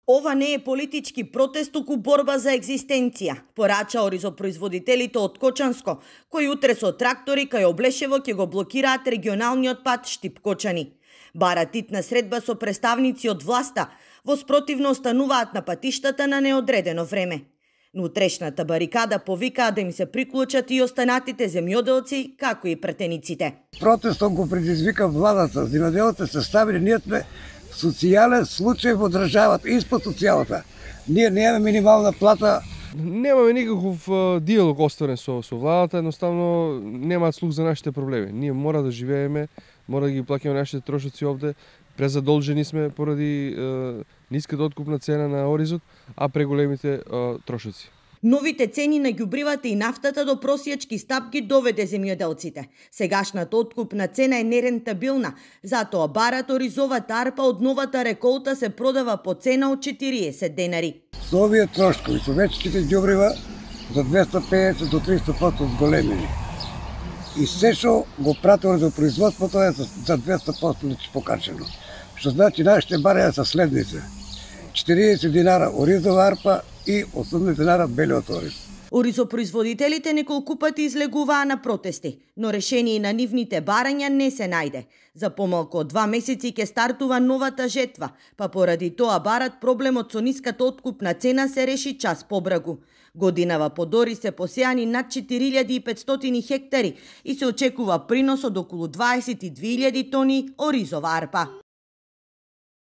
Ова не е политички протест, туку борба за екзистенција, порача оризопроизводителите од Кочанско, кои утре со трактори кај Облешево ќе го блокираат регионалниот пат Штип-Кочани. Барат итна средба со представници од власта, во спротивно остануваат на патиштата на неодредено време. На утрешната барикада повикаа да им се приклучат и останатите земјоделци, како и претениците. Протестот го предизвика владата, земјоделците се ставили, ние сме социјален случај во државата, испод социјалата. Ние немаме минимална плата. Немаме никаков диалог осторен со владата, едноставно немаат слух за нашите проблеми. Ние мора да живееме, мора да ги плаќаме нашите трошоци овде, презадолжени сме поради ниската откупна цена на оризот, а преголемите трошоци. Новите цени на ѓубривата и нафтата до просјечки стапки доведе земјоделците. Сегашната откупна цена е нерентабилна, затоа барат оризовата арпа од новата реколта се продава по цена од 40 денари. Со овие трошкови, со вечките ѓубрива за 250 до 300% зголемени. И се што го прати оризопроизводството е за 200% покачено. Што значи нашите барања се следните: 40 динара оризова арпа и 80 динара белиот ориз. Оризопроизводителите неколку пати излегуваа на протести, но решение на нивните барања не се најде. За помалку од 2 месеци ќе стартува новата жетва, па поради тоа барат проблемот со ниската откупна цена се реши час побрагу. Годинава под ориз се посеани над 4500 хектари и се очекува принос од околу 22.000 тони оризова арпа.